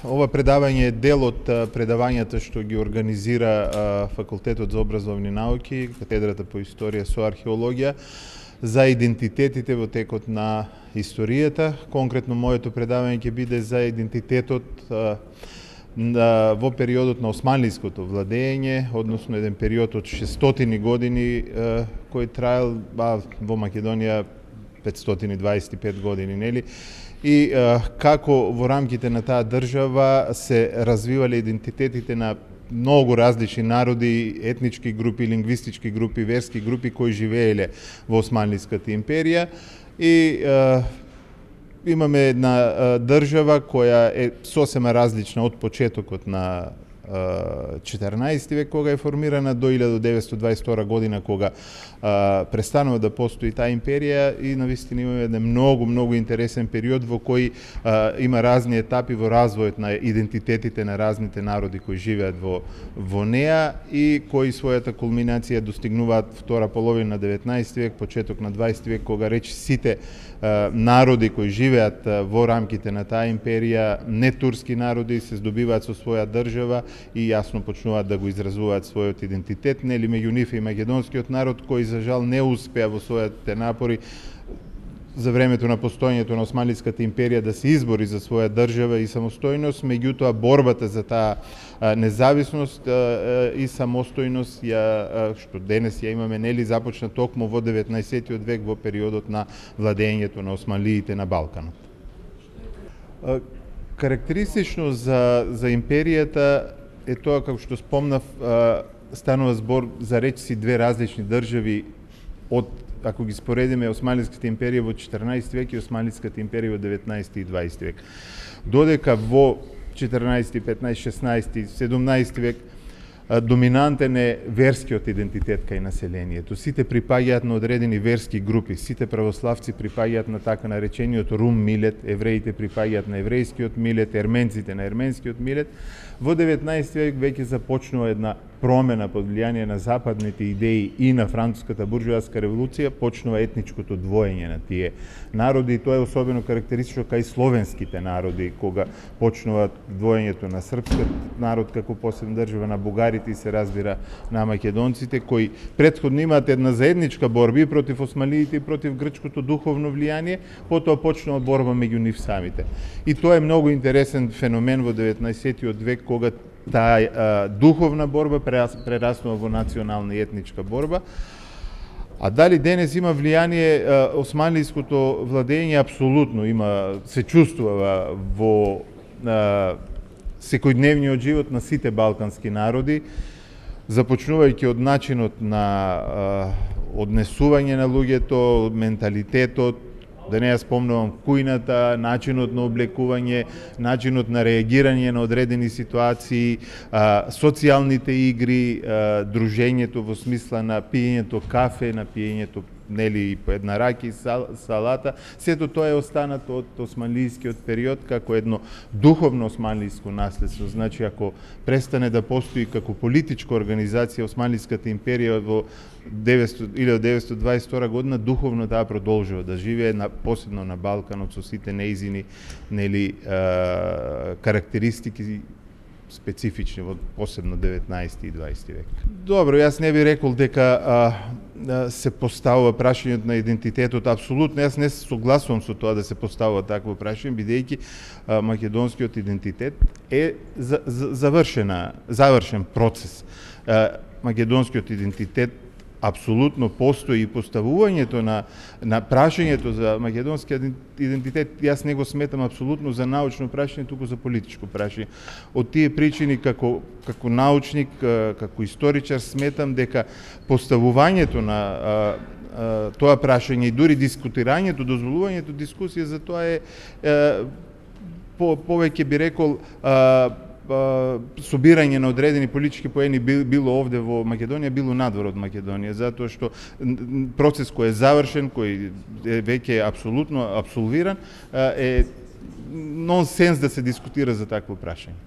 Ова предавање е дел од предавањата што ги организира Факултетот за образовни науки, катедрата по историја со археологија, за идентитетите во текот на историјата. Конкретно моето предавање ќе биде за идентитетот во периодот на османлиското владење, односно еден период од 600 години кој траел во Македонија 525 години, нели? И како во рамките на таа држава се развивале идентитетите на многу различни народи, етнички групи, лингвистички групи, верски групи кои живееле во Османлиската империја. И имаме една држава која е сосема различна од почетокот на 14 век, кога е формирана, до 1922 година, кога престанува да постои таа империја, и навистина имаме еден многу интересен период во кој има разни етапи во развојот на идентитетите на разните народи кои живеат во неа и кои својата кулминација достигнуваат втора половина на 19 век, почеток на 20 век, кога речи сите народи кои живеат во рамките на таа империја, не турски народи, се здобиваат со своја држава и јасно почнуваат да го изразуваат својот идентитет, нели меѓу нив и македонскиот народ, кој за жал не успеа во своите напори за времето на постоењето на Османлиската империја да се избори за своја држава и самостојност. Меѓутоа борбата за таа независност и самостојност што денес ја имаме, нели, започна токму во 19 век во периодот на владењето на османлиите на Балканот. Карактеристично за империјата е тоа, како што спомнав, станува збор за речиси две различни држави од, ако ги споредиме, Османлиската империја во 14 век и Османлиската империја во 19 и 20 век. Додека во 14, 15, 16, 17 век доминантен е верскиот идентитет кај населението. Сите припаѓаат на одредени верски групи, сите православци припаѓаат на така наречениот рум милет, евреите припаѓаат на еврејскиот милет, ерменците на ерменскиот милет. Во 19 век веќе започнува една промена под влијание на западните идеи и на француската буржуазска револуција, почнува етничкото двоење на тие народи, и тоа е особено карактеристично кај словенските народи, кога почнува двоењето на српскиот народ како посебна држава, на бугарите и се разбира на македонците, кои претходно имаат една заедничка борба и против османлиите и против грчкото духовно влијание, потоа почнува борба меѓу нив самите. И тоа е многу интересен феномен во 19 век, кога таа духовна борба прераснува во национална и етничка борба. А дали денес има влијание османлиското владење? Апсолутно има, се чувствува во секојдневниот живот на сите балкански народи, започнувајќи од начинот на однесување на луѓето, менталитетот, да не ја спомнувам кујната, начинот на облекување, начинот на реагирање на одредени ситуации, социјалните игри, дружењето во смисла на пиењето кафе, на пиењето, нели, по една раки, салата. Сето тоа е останато од османлискиот период како едно духовно османлиско наследство. Значи, ако престане да постои како политичка организација Османлиската империја во 1922 година, духовно таа продолжува да живее, посебно на Балканот, со сите неизини, нели, карактеристики специфични во посебно 19 и 20 век. Добро, јас не би рекол дека се поставува прашањето на идентитетот. Апсолутно, јас не се согласувам со тоа да се поставува такво прашање, бидејќи македонскиот идентитет е завршен процес. Македонскиот идентитет апсолутно постои, и поставувањето на прашањето за македонскиот идентитет, јас не го сметам апсолутно за научно прашање, туку за политичко прашање. Од тие причини, како научник, како историчар, сметам дека поставувањето на тоа прашање и дури дискутирањето, дозволувањето дискусија за тоа е повеќе би рекол собирање на одредени политички поени, било овде во Македонија, било надвор од Македонија, затоа што процес кој е завршен, кој веќе е апсолутно абсолвиран, е нонсенс да се дискутира за такво прашање.